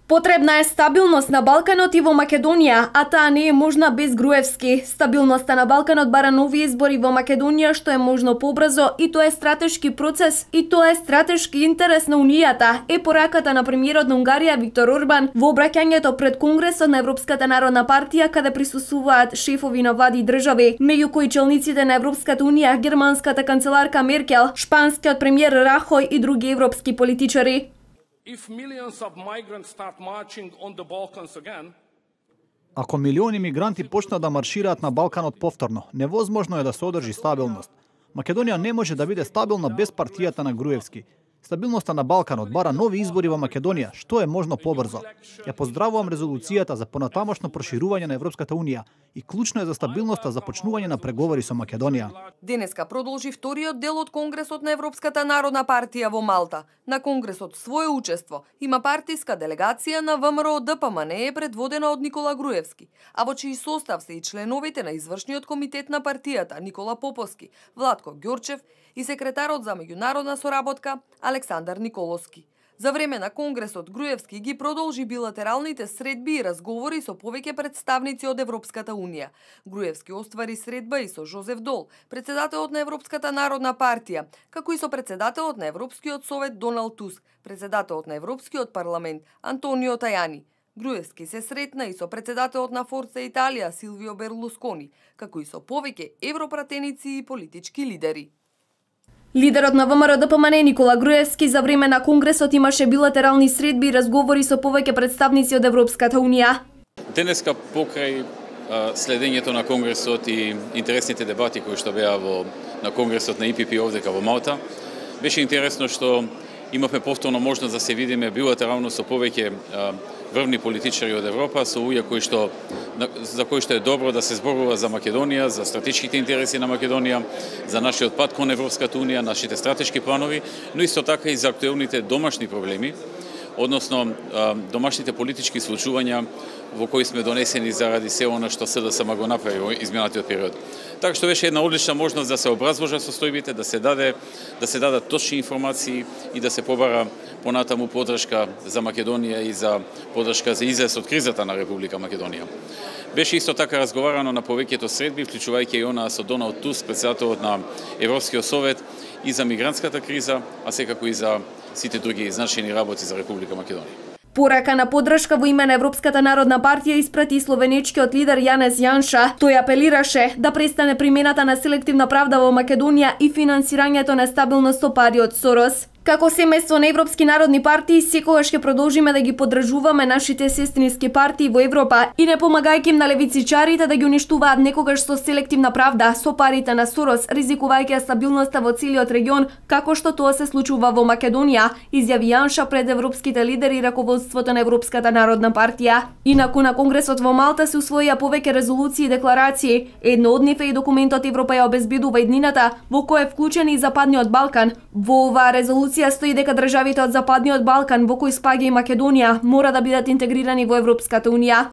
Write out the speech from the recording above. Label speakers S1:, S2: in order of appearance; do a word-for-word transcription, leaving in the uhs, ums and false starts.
S1: Потребна е стабилност на Балканот и во Македонија, а таа не е можна без Груевски. Стабилноста на Балканот бара нови избори во Македонија, што е можно побрзо, и тоа е стратешки процес, и тоа е стратешки интерес на Унијата, е пораката на премиерот на Унгарија Виктор Орбан во обраќањето пред Конгресот на Европската народна партија, каде присуствуваат шефови на влади и држави, меѓу кои челниците на Европската Унија, германската канцеларка Меркел, шпанскиот премиер Рахој и други европски политичари.
S2: Ако милиони мигранти почнат да маршираат на Балканот повторно, невозможно е да се одржи стабилност. Македонија не може да биде стабилна без партијата на Груевски. Стабилноста на Балканот бара нови избори во Македонија, што е можно побрзо. Ја поздравувам резолуцијата за понатамошно проширување на Европската Унија и клучно е за стабилноста започнување на преговори со Македонија.
S3: Денеска продолжи вториот дел од Конгресот на Европската народна партија во Малта. На Конгресот свое учество има партиска делегација на ВМРО Д П М Н е предводена од Никола Груевски, а во чиј состав се и членовите на извршниот комитет на партијата Никола Поповски, Владко Ѓорчев и секретарот за меѓународна соработка Александар Николовски. За време на Конгресот Груевски ги продолжи билатералните средби и разговори со повеќе представници од Европската Унија. Груевски оствари средба и со Жозеф Дол, председателот на Европската народна партија, како и со председателот на Европскиот совет Доналд Туск, председателот на Европскиот парламент Антонио Тајани. Груевски се сретна и со председателот на Форца Италија Силвио Берлускони, како и со повеќе европратеници и политички лидери.
S1: Лидерот на ВМРО Д П М Н Никола Груевски за време на Конгресот имаше билатерални средби и разговори со повеќе представници од Европската Унија.
S4: Денеска покрај а, следењето на Конгресот и интересните дебати кои што беа во на Конгресот на И П П овдека во Малта, беше интересно што имавме повторно можност да се видиме билатерално со повеќе а, врвни политичари од Европа, со луѓе кои што за кои што е добро да се зборува за Македонија, за стратешките интереси на Македонија, за нашиот пат кон Европската Унија, нашите стратешки планови, но исто така и за актуелните домашни проблеми, односно домашните политички случувања во кои сме донесени заради се она што С Д С М го направи во изминатиот период. Така што беше една одлична можност да се образложат состојбите, да се даде да се дадат точни информации и да се побара понатаму поддршка за Македонија и за поддршка за излез од кризата на Република Македонија. Беше исто така разговарано на повеќето средби, вклучувајќи и она со Доналд Туск, председателот на Европскиот совет, и за мигрантската криза, а секако и за сите други значајни работи за Република Македонија.
S1: Порака на поддршка во име на Европската народна партија испрати словенечкиот лидер Јанез Јанша. Тој апелираше да престане примената на селективна правда во Македонија и финансирањето на стабилност со пари од Сорос. Како семејство на европски народни партии, секогаш ќе продолжиме да ги поддржуваме нашите сестрински партии во Европа и не помагајќи им на левицичарите да ги уништуваат некогаш со селективна правда, со парите на Сорос, ризикувајќи стабилноста во целиот регион, како што тоа се случува во Македонија, изјави Јанша пред европските лидери и раководството на Европската народна партија. Инаку на Конгресот во Малта се усвоија повеќе резолуции и декларации. Едно од нив е и документот Европа ја обезбедува иднината, во кој е вклучен и Западниот Балкан. Во оваа резолуција стои дека државите од Западниот Балкан, во кој спаѓа и Македонија, мора да бидат интегрирани во Европската Унија.